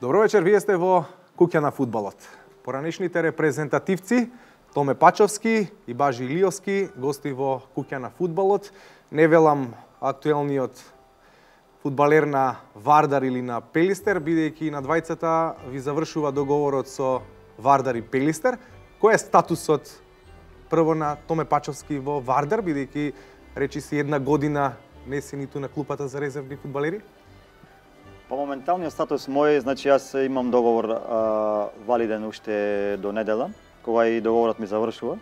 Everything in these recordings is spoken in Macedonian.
Добро вечер, вие сте во Куќа на фудбалот. Поранешните репрезентативци Томе Пачовски и Бажи Илиовски гости во Куќа на фудбалот. Не велам актуелниот фудбалер на Вардар или на Пелистер, бидејќи на двајцата ви завршува договорот со Вардар и Пелистер. Кој е статусот прво на Томе Пачовски во Вардар, бидејќи речи си една година не си ниту на клупата за резервни фудбалери? По моменталниот статус мој, значи јас имам договор валиден уште до недела, кога и договорот ми завршува.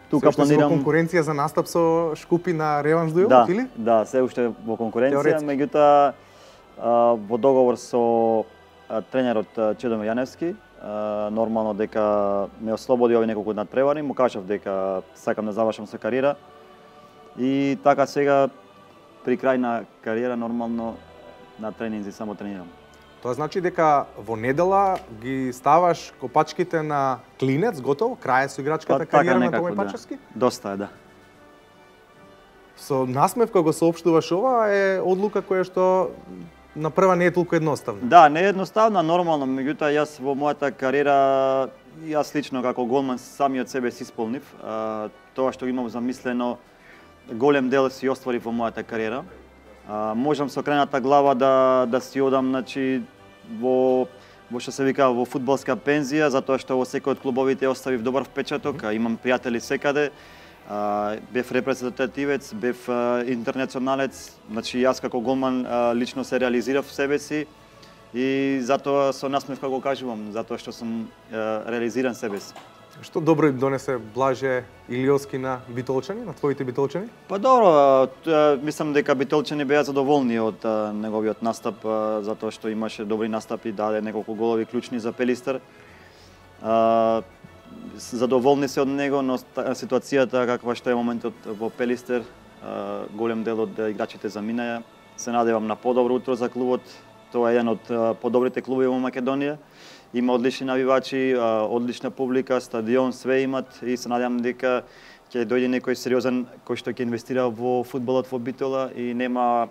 Тука планирам конкуренција за настап со Шкупи на реванш дуелот, или? Да, се уште во конкуренција, меѓутоа во договор со тренерот Чедоме Јаневски, нормално дека ме ослободи овие неколку надпревари, му кажав дека сакам да завршам со кариера. И така сега при крај на кариера нормално на тренинзи само тренирам. Тоа значи дека во недела ги ставаш копачките на клинец, готово, крај со играчката кариера на Томе Пачовски? Да. Доста е, да. Со насмевка го соопштуваш ова е одлука која што на прва не е толку едноставна. Да, не е едноставна, нормално, меѓутоа јас во мојата кариера, јас лично како голман самиот себе си исполнив. Тоа што имам замислено, голем дел си остварив во мојата кариера. Можам со крената глава да си одам, значи, во што се вика во фудбалска пензија, затоа што во секој од клубовите оставив добар впечаток, имам пријатели секаде. Бев репрезентативец, бев интернационалец, значи јас како голман лично се реализирав в себе си и затоа со насмевка го кажувам, затоа што сум реализиран себе си. Што добро им донесе Блаже Илиовски на битолчани, на твоите битолчани? Па добро, мислам дека битолчани беа задоволни од неговиот настап, затоа што имаше добри настапи, даде неколку голови клучни за Пелистер. Задоволни се од него, но ситуацијата каква што е моментот во Пелистер, голем дел од играчите заминаја. Се надевам на подобро утро за клубот. Тоа е еден од подобрите клубови во Македонија. Има одлични навивачи, одлична публика, стадион, све имат и се надевам дека ќе дојде некој сериозен кој што ќе инвестира во фудбалот во Битола и нема,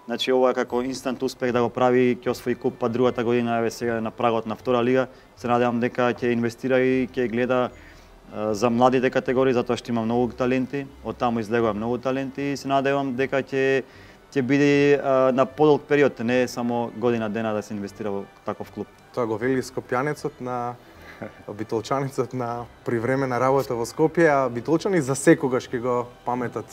значи ова како инстант успех да го прави, ќе освои куп, па другата година еве сега на прагот на втора лига. Се надевам дека ќе инвестира и ќе гледа за младите категории затоа што има многу таленти, од таму излегува многу таленти и се надевам дека ќе биде на подолг период, не само година дена да се инвестира во таков клуб. Тоа го вели скопјанецот на битолчанецот на привремена работа во Скопје, а битолчани за секогаш ќе го паметат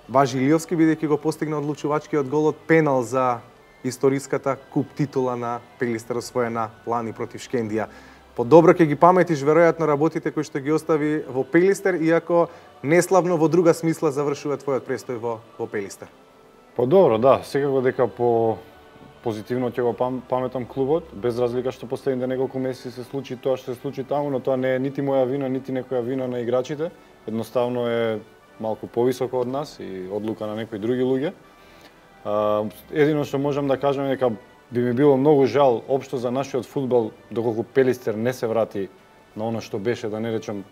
Бажи Илиовски, бидејќи го постигна одлучувачкиот гол од пенал за историската куп титула на Пелистер освоена лани против Шкендија. Подобро ќе ги паметиш веројатно работите кои што ги остави во Пелистер, иако неславно во друга смисла завршува твојот престој во Пелистер. Па добро, да, секако дека по позитивно ќе го паметам клубот, без разлика што последните неколку месеци се случи тоа што се случи таму, но тоа не е нити моја вина, нити некоја вина на играчите. Едноставно е малку повисоко од нас и одлука на некои други луѓе. Едино што можам да кажам е дека би ми било многу жал општо за нашиот фудбал доколку Пелистер не се врати на она што беше, да не речем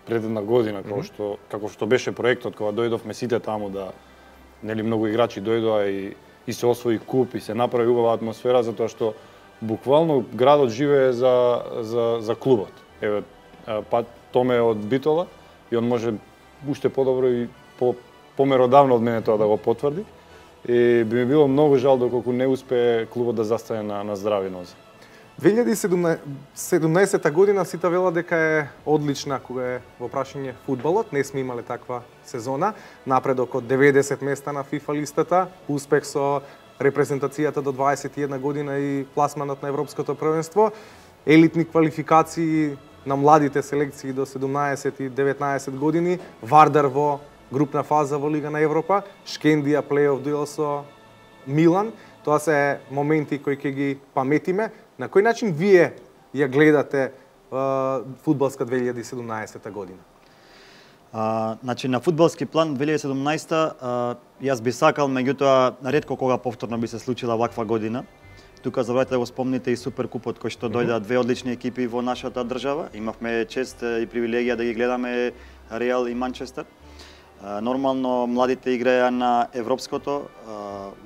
пред една година, како што беше проектот кога дојдовме сите таму да нели многу играчи дојдоа и се освои куп и се направи убава атмосфера затоа што буквално градот живее за клубот. Еве па Томе од Битола и он може уште подобро и померодавно од мене тоа да го потврди. И би ми било многу жал доколку не успее клубот да застане на здрави нозе. 2017 година сите велат дека е одлична кога е во прашање фудбалот. Не сме имале таква сезона. Напредок од 90 места на FIFA листата, успех со репрезентацијата до 21 година и пласманот на Европското првенство, елитни квалификации на младите селекции до 17 и 19 години, Вардар во групна фаза во Лига на Европа, Шкендија плей-оф дуел со Милан. Тоа се моменти кои ќе ги паметиме. На кој начин вие ја гледате фудбалска 2017 година? Значи на фудбалски план 2017 јас би сакал, меѓутоа ретко кога повторно би се случила ваква година. Тука забравете да го спомните и Суперкупот кој што дојде две одлични екипи во нашата држава. Имавме чест и привилегија да ги гледаме Реал и Манчестер. Нормално младите играја на европското,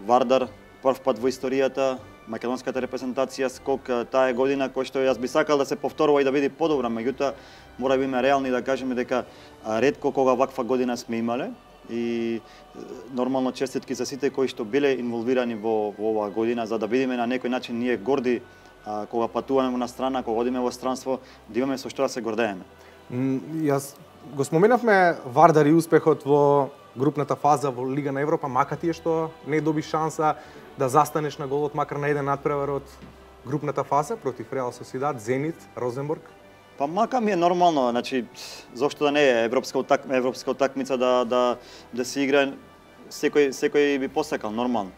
Вардар прв пат во историјата македонската репрезентација скок таа година кој што јас би сакал да се повторува и да биде подобра, меѓутоа мора биме реални да кажеме дека ретко кога ваква година сме имале и нормално честитки за сите кои што биле инволвирани во оваа година за да бидеме на некој начин ние горди кога патуваме на страна, кога одиме во странство, да имаме со што да се гордееме. Јас го споменавме Вардар и успехот во групната фаза во Лига на Европа, мака ти е што не доби шанса да застанеш на голот макар на еден надпревар од групната фаза против Реал Сосидад, Зенит, Розенбург? Па мака ми е нормално, значи зошто да не е европска утакмица да се игра, секој би посакал нормално.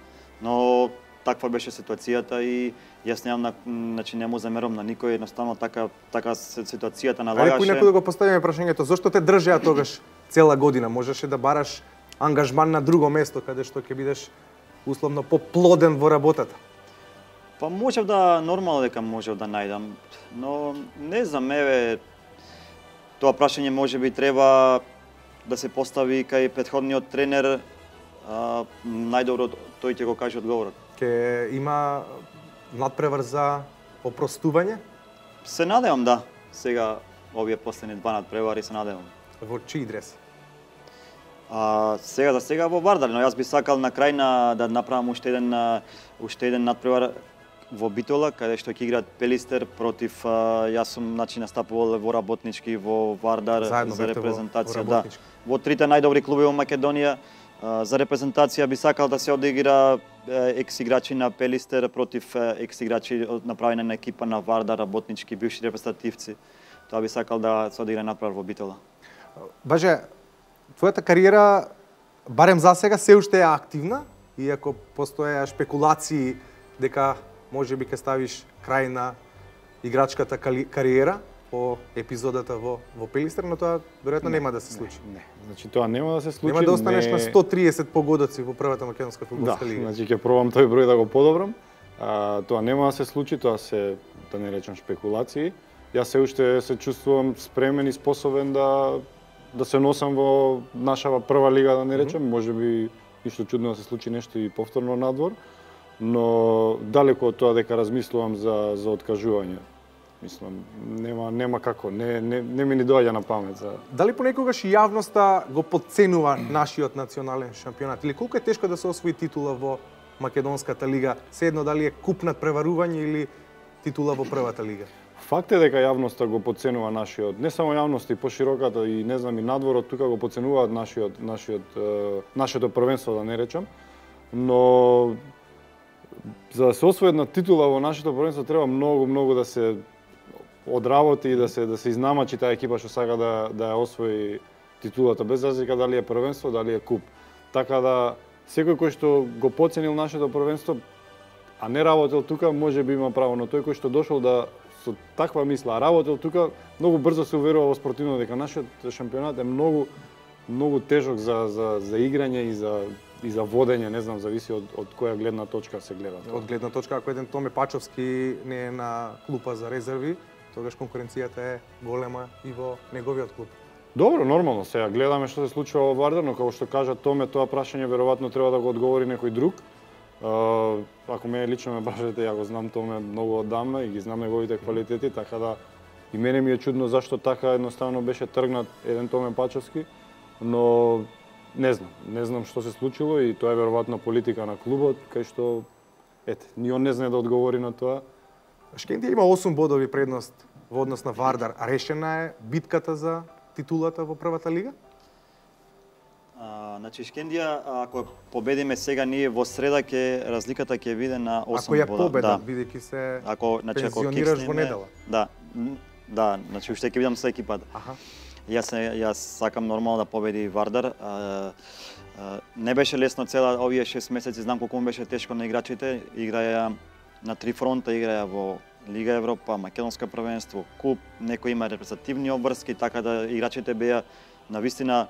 Но таква беше ситуацијата и јас немам значи не му замерам на никој, едноставно така ситуацијата налагаше. Ајде некој да го поставиме прашањето, зошто те држеа тогаш цела година? Можеше да бараш ангажман на друго место каде што ќе бидеш условно поплоден во работата. Па можев да нормално дека можев да најдам, но не знам, еве тоа прашање можеби треба да се постави кај претходниот тренер, најдобро тој ќе го каже одговорот. Ке има надпревар за опростување? Се надевам да. Сега овие последни два надпревари се надевам. Во чии дрес? Сега за сега во Вардар, но јас би сакал на крај да направам уште еден надпревар во Битола, каде што ќе играат Пелистер против јас сум настапувал во работнички во Вардар заедно за репрезентација, во во трите најдобри клуби во Македонија. За репрезентација би сакал да се одигра екс играчи на Пелистер против екс играчи направени на екипа на Вардар, работнички, бивши репрезентативци. Тоа би сакал да се одигра надпревар во Битола. Баже, твојата кариера барем за сега се уште е активна, иако постоеа шпекулации дека можеби ќе ставиш крај на играчката кариера по епизодата во Пелистер, но тоа веројатно нема да се случи. Не. Значи тоа нема да се случи. Нема да останеш на 130 погодоци во првата македонска фудбалска лига. Да, значи ќе пробам тој број да го подобрам. Тоа нема да се случи, тоа се да не речам шпекулации. Јас се уште се чувствувам спремен и способен да се носам во нашава прва лига, да не речем, можеби ништо чудно да се случи нешто и повторно надвор, но далеко од тоа дека размислувам за откажување. Мислам, нема како, не ми ни доаѓа на памет. Дали понекогаш и јавноста го потценува нашиот национален шампионат? Или колку е тешко да се освои титула во македонската лига? Седно дали е куп надпреварување или титула во првата лига? Факт е дека јавноста го потценува нашиот, не само јавноста и пошироката и не знам и надворот тука го потценуваат нашето првенство, да не речам, но за да се освои една титула во нашето првенство треба многу да се одработи и да се изнамачи таа екипа што сака да ја освои титулата, без разлика дали е првенство, дали е куп. Така да секој кој што го потценил нашето првенство, а не работел тука, може би има право, но тој кој што дошол со таква мисла, работел тука, многу брзо се уверува во спортивно дека нашиот шампионат е многу тежок за играње и за водење, не знам, зависи од која гледна точка се гледа. Од гледна точка, ако еден Томе Пачовски не е на клупа за резерви, тогаш конкуренцијата е голема и во неговиот клуб. Добро, нормално, сега гледаме што се случува во Вардар, но како што кажа Томе, тоа прашање веројатно треба да го одговори некој друг. Ако мене лично ме прашате, ја го знам Томе многу оддамна и ги знам неговите квалитети, така да и мене ми е чудно зашто така едноставно беше тргнат еден Томе Пачовски, но не знам што се случило и тоа е веројатно политика на клубот, кај што ни он не знае да одговори на тоа. Шкендија има 8 бодови предност во однос на Вардар, а решена е битката за титулата во првата лига? Значи Шкендија, ако победиме сега ние во среда, разликата ќе биде на 8 бода. Ако ја победа, бидејќи се пензионираш во недела. Да, значи уште ќе бидам со екипата. Јас сакам нормално да победи Вардар. Не беше лесно цела овие 6 месеци, знам колку беше тешко на играчите. Играја на 3 фронта, играја во Лига Европа, македонско првенство, куп, некои има репрезентативни обврски, така да играчите беа навистина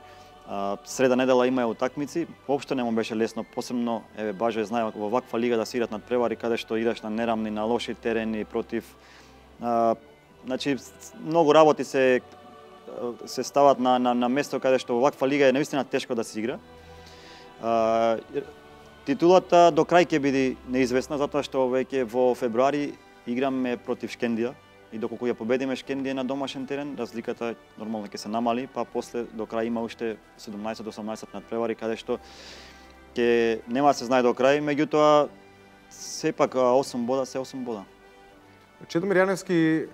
среда недела имаја утакмици. Воопшто не му беше лесно, посебно Баже знае во ваква лига да се играат надпревари каде што играш на нерамни, на лоши терени против значи многу работи се стават на место каде што во ваква лига е навистина тешко да се игра. Титулата до крај ќе биде неизвестна затоа што веќе во февруари играме против Шкендија и доколку ја победиме Шкендија на домашен терен, разликата нормално ќе се намали, па после до крај има уште 17-18 надпревари каде што ќе нема да се знае до крај, меѓутоа сепак 8 бода се 8 бода. Чедомир Јаневски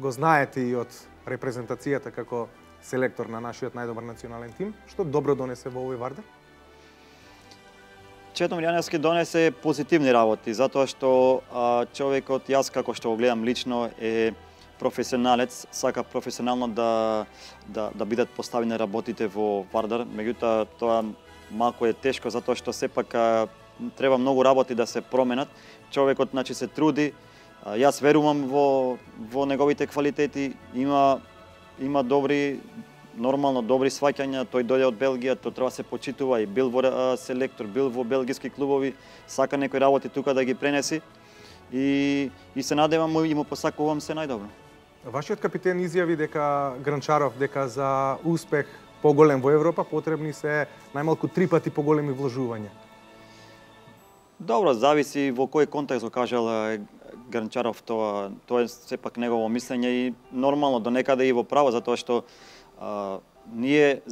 го знаете и од репрезентацијата како селектор на нашиот најдобар национален тим. Што добро донесе во овој Вардар? Чедомир Јаневски донесе позитивни работи, затоа што човекот, јас како што го гледам лично, е професионалец, сака професионално да бидат поставени работите во Вардар, меѓутоа тоа малку е тешко затоа што сепак треба многу работи да се променат. Човекот значи се труди, јас верувам во неговите квалитети, има добри сваќања, тој дојде од Белгија, тој треба да се почитува и бил во селектор, бил во белгиски клубови, сака некои работи тука да ги пренеси и се надевам и му посакувам се најдобро. Вашиот капитен изјави дека Гранчаров дека за успех поголем во Европа потребни се најмалку 3 пати поголеми вложувања. Добро, зависи во кој контекст го кажал Гранчаров, тоа е сепак негово мислење и нормално до некаде и во право, затоа што ние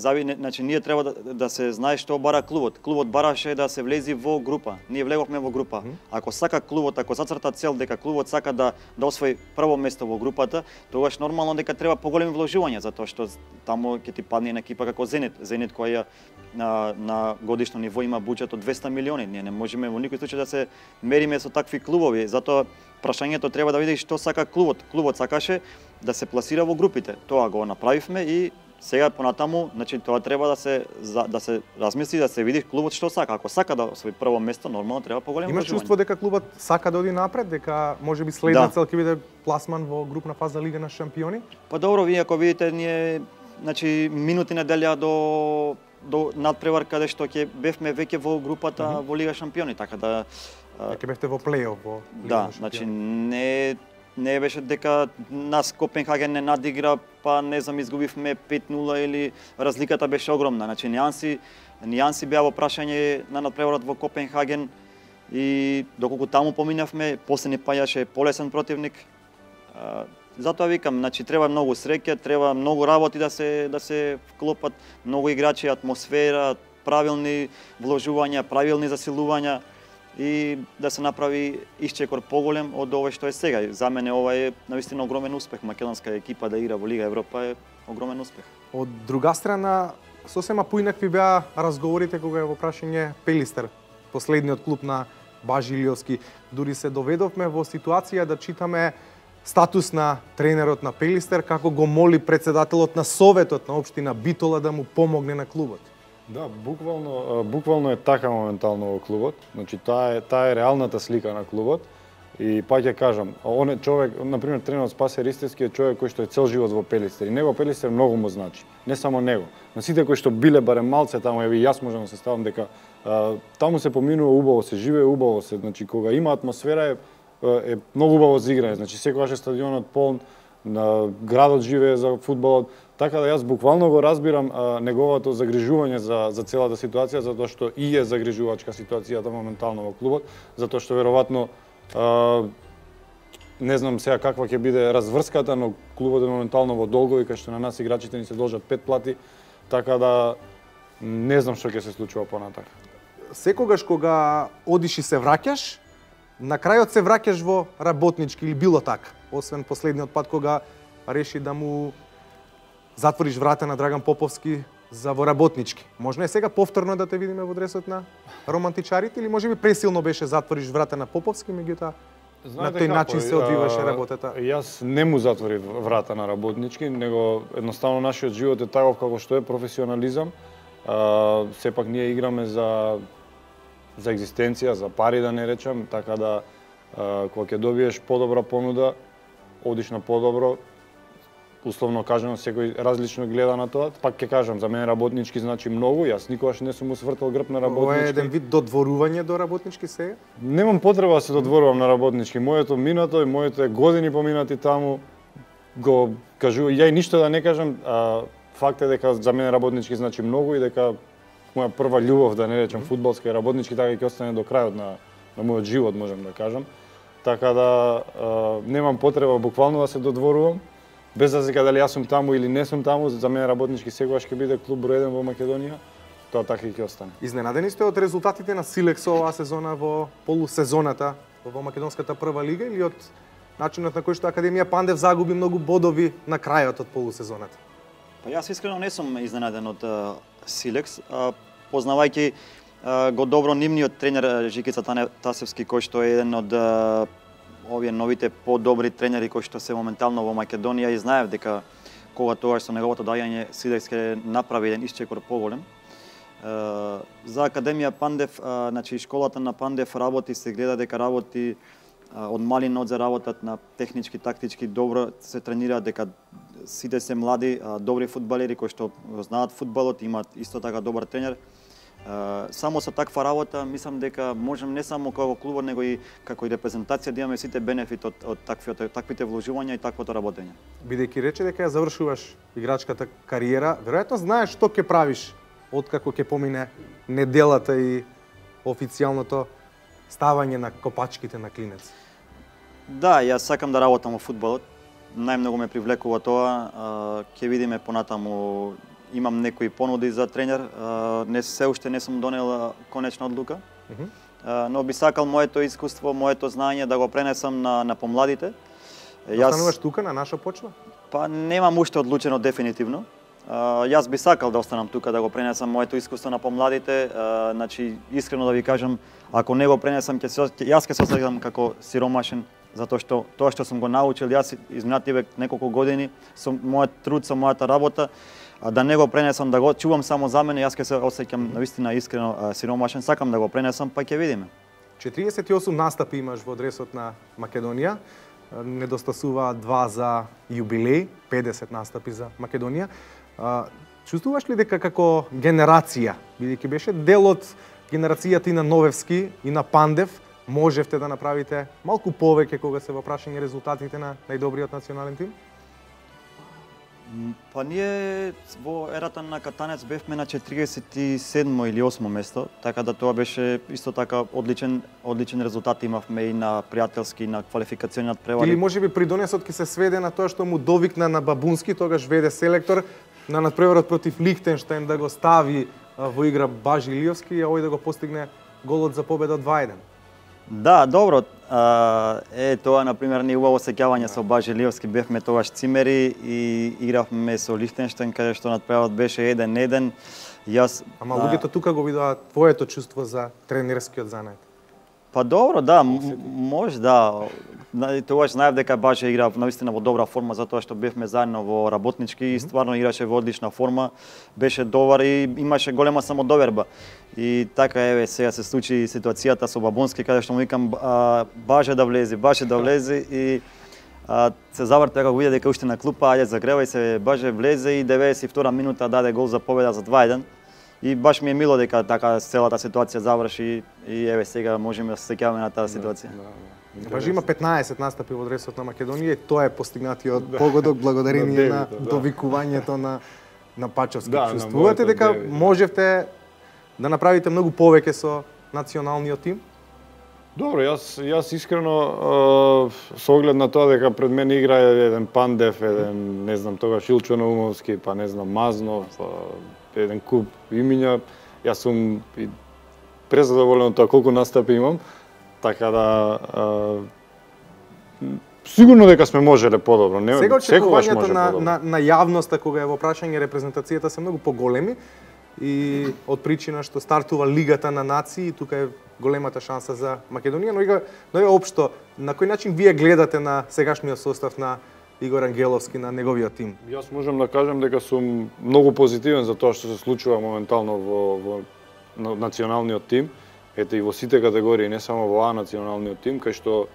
треба да се знае што бара клубот. Клубот бараше да се влези во група. Ние влеговме во група. Ако сака клубот, ако зацрта цел дека клубот сака да освои прво место во групата, тогаш нормално дека треба поголеми вложувања, затоа што таму ќе ти падне една екипа како Зенит. Зенит која на годишно ниво има буџет од 200 милиони. Ние не можеме во никој случај да се мериме со такви клубови. Затоа прашањето треба да види што сака клубот. Клубот сакаше да се пласира во групите. Тоа го направивме и сега понатаму, значи тоа треба да се размисли, да се види клубот што сака. Ако сака да освои прво место, нормално треба поголемо вложување. Имаш чувство дека клубот сака да оди напред, дека можеби следна цел ќе биде пласман во групна фаза Лига на шампиони? Па добро, вие ако видите, ние значи минути неделја до надпревар каде што ќе бевме веќе во групата во Лига шампиони, така да ќе бевте во плей-оф во Лига на шампиони. Значи не беше дека нас Копенхаген не надигра, па не знам изгубивме 5-0 или разликата беше огромна. Значи нијанси беа во прашање на надпреварот во Копенхаген и доколку таму поминавме, после ни паѓаше полесен противник. Затоа викам, значи треба многу среќа, треба многу работи да се вклопат, многу играчи, атмосфера, правилни вложувања, правилни засилувања и да се направи исчекор поголем од ова што е сега. За мене ова е навистина огромен успех. Македонска екипа да игра во Лига Европа е огромен успех. Од друга страна, сосема поинакви беа разговорите кога е во прашање Пелистер, последниот клуб на Бажи Илиовски. Дури се доведовме во ситуација да читаме статус на тренерот на Пелистер како го моли претседателот на Советот на општина Битола да му помогне на клубот. Да, буквално е така моментално во клубот. Значи таа е реалната слика на клубот. И па ќе кажам, он е човек, например тренерот Спасе Ристевски е човек кој што е цел живот во Пелистер и него Пелистер многу му значи. Не само него, но сите кои што биле барем малце таму, еви јас можам да се ставам дека таму се поминува убаво, се живее убаво, значи кога има атмосфера е многу убаво за играње. Значи секогаш е стадионот полн, градот живее за фудбалот. Така да јас буквално го разбирам неговото загрижување за целата ситуација, затоа што и е загрижувачка ситуацијата моментално во клубот, затоа што веројатно не знам сега каква ќе биде разврската, но клубот е моментално во долгови, кај што на нас играчите ни се должат 5 плати, така да не знам што ќе се случува понатака. Секогаш кога одиш и се враќаш, на крајот се враќаш во работнички или било така, освен последниот пат кога реши да му затвориш врата на Драган Поповски за во работнички. Можно е сега повторно да те видиме во дресот на романтичарите или можеби пресилно беше затвориш врата на Поповски, меѓутоа на тој начин се одвиваше работата? Јас не му затворив врата на работнички, него едноставно нашиот живот е таков како што е, професионализам. Сепак ние играме за екзистенција, за пари да не речам, така да кога ќе добиеш подобра понуда, одиш на подобро. Условно кажано, секој различно гледа на тоа. Пак ќе кажам, за мене работнички значи многу. Јас никогаш не сум усвртал грб на работнички. Ова е еден вид додворување до работнички сега? Немам потреба да се додворувам на работнички. Моето минато и моите години поминати таму го кажува. Ја и ништо да не кажам, факт е дека за мене работнички значи многу и дека моја прва љубов, да не речем фудбалска и работнички, така ќе остане до крајот на мојот живот, можам да кажам. Така да немам потреба буквално да се додворувам. Без разлика дали јас сум таму или не сум таму, за мене работнички секогаш ќе биде клуб број 1 во Македонија. Тоа така и ќе остане. Изненадени сте од резултатите на Силекс оваа сезона во полусезоната во македонската прва лига или од начинот на кој што Академија Пандев загуби многу бодови на крајот од полусезоната? Па јас искрено не сум изненаден од Силекс, познавајќи го добро нивниот тренер Жикица Тасевски, кој што е еден од овие новите подобри тренери кои што се моментално во Македонија, и знаев дека кога тоа со неговото доаѓање Силекс ќе направи еден исчекор поголем. За Академија Пандев, значи школата на Пандев работи, се гледа дека работи од мали нозе, работат на технички, тактички, добро се тренираат, дека сите се млади, добри фудбалери кои што знаат фудбалот, имаат исто така добар тренер. Само со таква работа, мислам дека можем не само како клубот, него и како и репрезентација да имаме сите бенефит од таквите вложувања и таквото работење. Бидејќи рече дека ја завршуваш играчката кариера, веројатно знаеш што ќе правиш откако ќе помине неделата и официјалното ставање на копачките на Клинец. Да, јас сакам да работам во фудбалот. Најмногу ме привлекува тоа. Ќе видиме понатаму. Имам некои понуди за тренер, се уште не сум донел конечна одлука, но би сакал моето искуство, моето знаење да го пренесам на помладите. Остануваш тука на наша почва? Па немам уште одлучено дефинитивно. Јас би сакал да останам тука да го пренесам моето искуство на помладите. Значи, искрено да ви кажам, ако не го пренесам, јас ќе се осеќам како сиромашен, затоа што тоа што сум го научил јас изминативе неколку години со мојот труд, со мојата работа, да не го пренесам, да го чувам само за мене, јас ќе се осеќам навистина искрено сиромашен, сакам да го пренесам, па ќе видиме. 48 настапи имаш во дресот на Македонија, недостасува 2 за јубилеј, 50 настапи за Македонија. Чувствуваш ли дека како генерација, бидејќи беше дел од генерацијата и на Новевски и на Пандев, можевте да направите малку повеќе кога се во прашање резултатите на најдобриот национален тим? Па ние во ерата на Катанец бевме на 47 или 8 место, така да тоа беше исто така одличен резултат имавме и на пријателски и на квалификациони надпревари. Или можеби придонесот ќе се сведе на тоа што му довикна на Бабунски, тогаш веде селектор, на надпреварот против Лихтенштајн да го стави во игра Бажи Илиовски и овој да го постигне голот за победа 2-1. Да, добро. Тоа, например, не убаво сеќавање со Бажи Илиовски. Бевме тогаш цимери и игравме со Лихтенштајн, каде што надпреварот беше 1-1. Ама луѓето тука го видоа твоето чувство за тренерскиот занет. Па добро, да, може, да. Тогаш знаев дека Бажи игра навистина во добра форма, затоа што бевме заедно во работнички и стварно играше во одлична форма, беше добар и имаше голема самодоверба. И така еве сега се случи ситуацијата со Бабунски, каде што му викам Баже да влезе и се заврте како виде дека уште на клупа, ајде загревај се, Баже влезе и 92 минута даде гол за победа за 2-1. И баш ми е мило дека така целата ситуација заврши и еве сега можеме да се сеќаваме на таа ситуација. Бажи има 15 настапи во дресот на Македонија и тоа е постигнатиот погодок благодарение на довикувањето на Пачовски. Чувствувате дека можевте да направите многу повеќе со националниот тим? Добро, јас искрено со оглед на тоа дека пред мене игра еден Пандев, еден не знам тогаш Илчо Наумовски, па не знам Мазнов, еден куп имиња, јас сум презадоволен од тоа колку настапи имам, така да сигурно дека сме можеле подобро. Сега очекувањето на јавноста кога е во прашање репрезентацијата се многу поголеми и од причина што стартува Лигата на нации, тука е големата шанса за Македонија, но и општо, на кој начин вие гледате на сегашниот состав на Игор Ангеловски, на неговиот тим? Јас можам да кажам дека сум многу позитивен за тоа што се случува моментално во националниот тим, ете и во сите категории, не само во националниот тим, кај што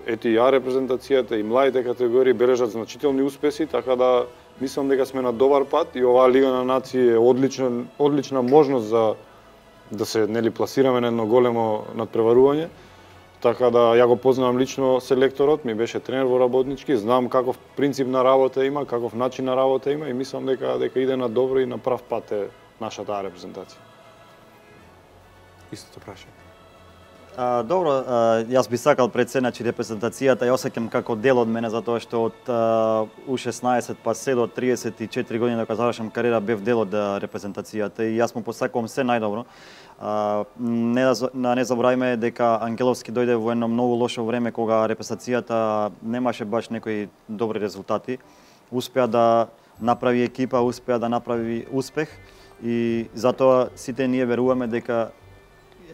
ете и репрезентацијата и младите категории бележат значителни успеси, така да мислам дека сме на добар пат и оваа Лига на нации е одлична можност за да се пласираме на едно големо надпреварување. Така да ја го познавам лично селекторот, ми беше тренер во работнички, знам каков принцип на работа има, каков начин на работа има и мислам дека иде на добро и на прав пат е нашата репрезентација. Истото прашање. Добро, јас би сакал пред се, значи репрезентацијата ја осеќам како дел од мене, затоа што од U16 па се до 34 години дека завршам кариера бев дел од репрезентацијата и јас му посакувам се најдобро. Не забораваме дека Ангеловски дојде во едно многу лошо време кога репрезентацијата немаше баш некои добри резултати. Успеа да направи екипа, успеа да направи успех и затоа сите ние веруваме дека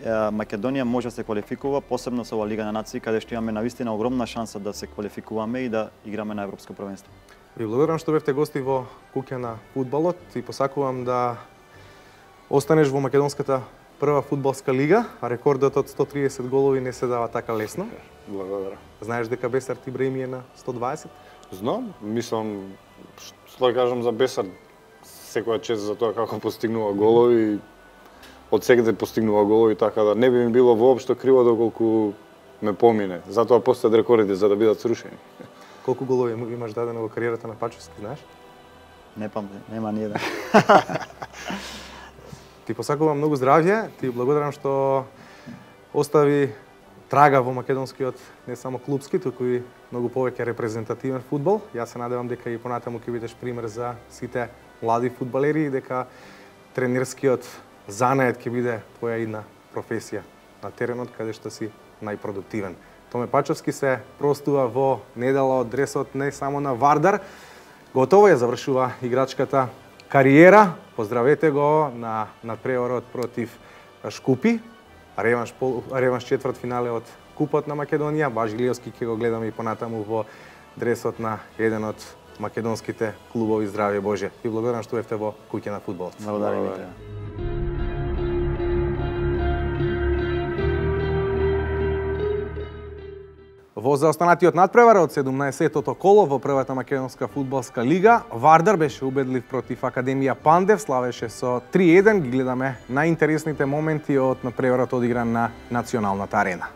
Македонија може да се квалификува, посебно со Лига на нации, каде што имаме навистина огромна шанса да се квалификуваме и да играме на европско првенство. Ви благодарам што бевте гости во куќа на фудбалот и посакувам да останеш во македонската прва фудбалска лига, а рекордот од 130 голови не се дава така лесно. Благодарам. Знаеш дека Бесар Ибраими е на 120? Знам, мислам, што да кажам за Бесар, секоја чест за тоа како постигнува голови, од секаде постигнува голови, така да не би ми било воопшто криво доколку ме помине. Затоа постојат рекордите за да бидат срушени. Колку голови имаш дадено во кариерата на Пачовски, знаеш? Не памтам, нема ни еден. Ти посакувам многу здравје, ти благодарам што остави трага во македонскиот не само клубски, туку и многу повеќе репрезентативен фудбал. Јас се надевам дека и понатаму ќе бидеш пример за сите млади фудбалери и дека тренерскиот занает ќе биде твоја идна професија на теренот каде што си најпродуктивен. Томе Пачовски се простува во недела од дресот не само на Вардар. Готово ја завршува играчката кариера. Поздравете го на надпреварот против Шкупи. Реванш четврт финале од Купот на Македонија. Баш Илиевски ќе го гледаме и понатаму во дресот на еден од македонските клубови. Здравје Боже. И благодарам што бевте во куќа на фудбалот. Благодарам. Во заостанатиот надпревар од 17-тото коло во првата македонска фудбалска лига, Вардар беше убедлив против Академија Пандев, славеше со 3-1. Ги гледаме најинтересните моменти од надпреварот одигран на Националната арена.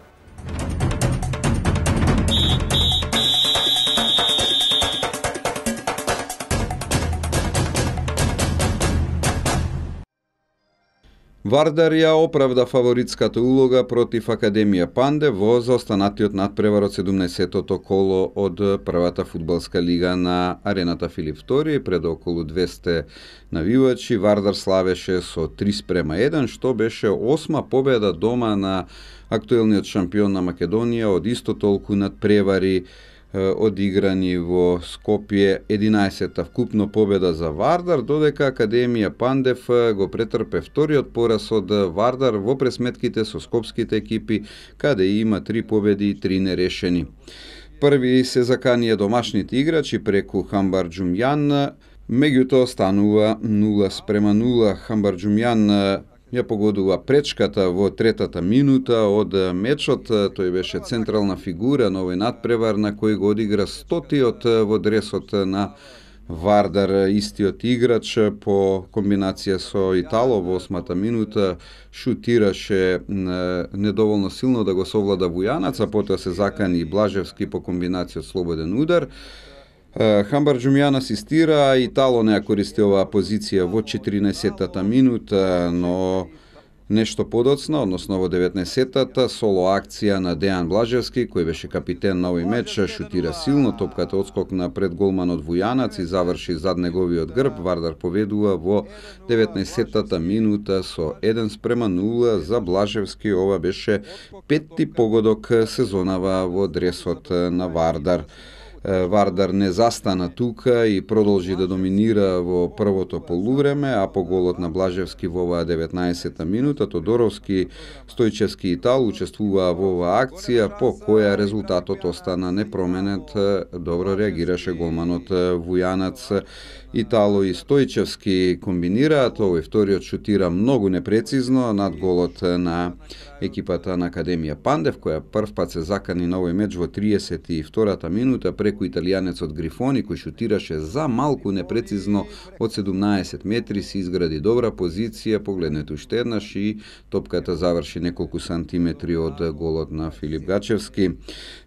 Вардар ја оправда фаворитската улога против Академија Панде во заостанатиот надпревар од 17-тото коло од првата фудбалска лига на арената Филип II. Пред околу 200 навивачи Вардар славеше со 3:1, што беше 8-ма победа дома на актуелниот шампион на Македонија од исто толку надпревари одиграни во Скопје, 11-та вкупно победа за Вардар, додека Академија Пандев го претрпе вториот пораз од Вардар во пресметките со скопските екипи, каде има 3 победи и 3 нерешени. Први се заканија домашните играчи преку Хамбарџумјан, меѓутоа станува 0:0. Хамбарџумјан ја погодува пречката во третата минута од мечот. Тој беше централна фигура на овој надпревар на кој го одигра 100-тиот во дресот на Вардар. Истиот играч по комбинација со Итало во 8-та минута шутираше недоволно силно да го совлада Вујанац, а потоа се закани Блажевски по комбинација од слободен удар. Хамбарџумјан асистира, Итало не ја користи оваа позиција во 14-та минута, но нешто подоцна, односно во 19-та, соло акција на Дејан Блажевски, кој беше капитен на овој меч, шутира силно, топката одскокна пред голманот Вујанац и заврши зад неговиот грб. Вардар победува во 19-та минута со 1:0 за Блажевски. Ова беше 5-ти погодок сезонава во дресот на Вардар. Вардар не застана тука и продолжи да доминира во првото полувреме, а по голот на Блажевски во оваа 19-та минута Тодоровски, Стојчевски и Итал учествуваа во оваа акција, по која резултатот остана непроменет. Добро реагираше голманот Вујанац. Итало и Стојчевски комбинираат, овој вториот шутира многу непрецизно над голот на екипата на Академија Пандев, која прв пат се закани на овој меч во 32-та минута преку преку италијанецот Грифони, кој шутираше за малку непрецизно од 17 метри, се изгради добра позиција, погледнете уште еднаш и топката заврши неколку сантиметри од голот на Филип Гачевски.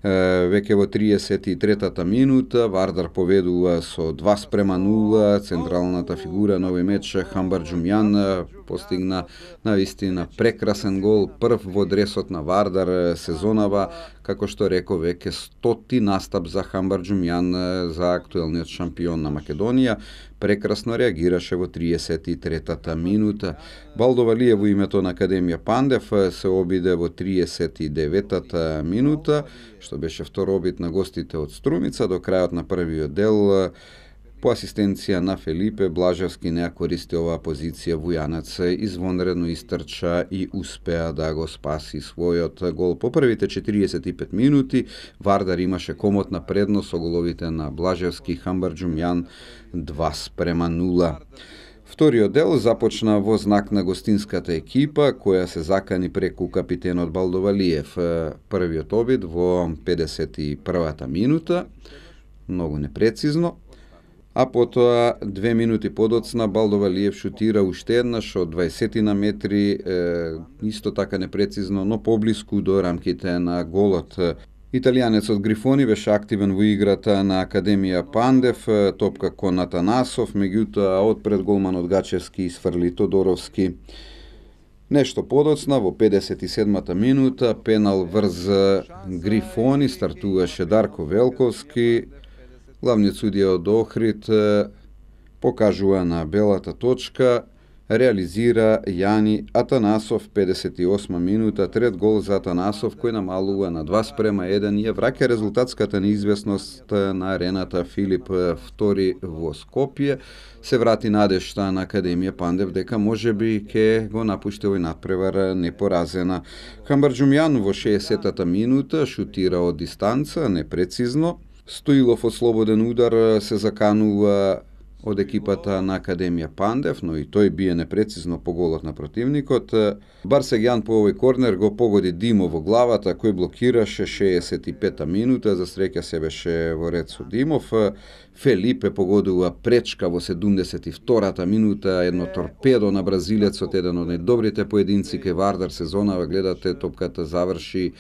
Веќе во 33-та минута Вардар поведува со 2:0, централната фигура на овој меч Хамбарџумјан постигна навистина прекрасен гол, прв во дресот на Вардар сезонава, како што реков, веќе 100-ти настап за Хамбарџумјан, за актуелниот шампион на Македонија. Прекрасно реагираше во 33-та минута. Балдо Валиев во името на Академија Пандев се обиде во 39-та минута, што беше втор обид на гостите од Струмица. До крајот на првиот дел, по асистенција на Фелипе, Блажевски не користи оваа позиција. Вујанец извонредно истрча и успеа да го спаси својот гол. По првите 45 минути Вардар имаше комотна предност со головите на Блажевски и Хамбарџумјан 2:0. Вториот дел започна во знак на гостинската екипа, која се закани преку капитенот Балдо Валиев. Првиот обид во 51-та минута, многу непрецизно, а потоа 2 минути подоцна Балдо Валиев шутира уште еднаш од 20 на метри, исто така непрецизно, но поблиску до рамките на голот. Италијанецот Грифони беше активен во играта на Академија Пандев, топка кон Атанасов, меѓутоа од пред голманот Гачевски изфрли Тодоровски. Нешто подоцна, во 57-та минута, пенал врз Грифони, стартуваше Дарко Велковски. Главниот судија од Охрид покажува на белата точка, реализира Јани Атанасов, 58 минута, трет гол за Атанасов, кој намалува на 2:1 и ја враќа резултатската неизвестност на арената Филип II во Скопје. Се врати надежта на Академија Пандев дека можеби ќе го напушти овој надпревар непоразена. Хамбарџумјан во 60-та минута шутира од дистанца, непрецизно. Стоилов од слободен удар се заканува од екипата на Академија Пандев, но и тој бие непрецизно по голот на противникот. Барсегјан по овој корнер го погоди Димо во главата, кој блокираше 65-та минута, за среќа се беше во ред со Димов. Фелипе погодува пречка во 72-та минута, едно торпедо на бразилецот, еден од најдобрите поединци кај Вардар сезонава. Гледате, топката заврши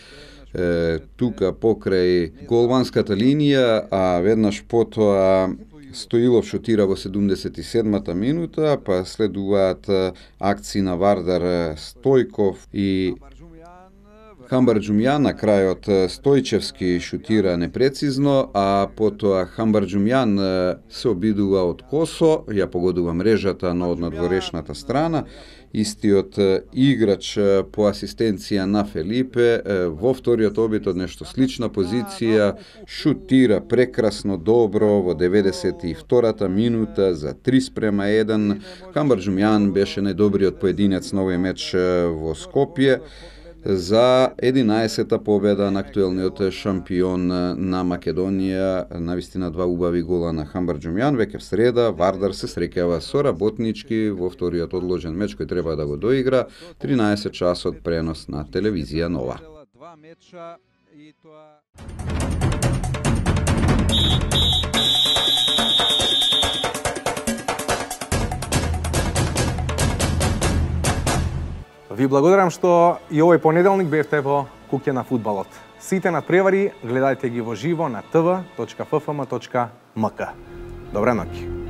тука покрај голманската линија, а веднаш потоа Стоилов шутира во 77-та минута, па следуваат акции на Вардар, Стојков и Хамбарџумјан. На крајот Стојчевски шутира непрецизно, а потоа Хамбарџумјан се обидува од косо, ја погодува мрежата, но од надворешната страна. Истиот играч по асистенција на Фелипе во вториот обид од нешто слична позиција шутира прекрасно добро во 92-та минута за 3:1. Хамбарџумјан беше најдобриот поединец на овој меч во Скопје за 11-та победа на актуелниот шампион на Македонија. Навистина два убави гола на Хамбарџумјан. Веќе в среда Вардар се среќава со Работнички во вториот одложен меч кој треба да го доигра. 13 часот пренос на телевизија Нова. Ви благодарам што и овој понеделник бевте во Куќа на фудбалот. Сите надпревари гледајте ги во живо на tv.ffm.mk. Добра ноќ.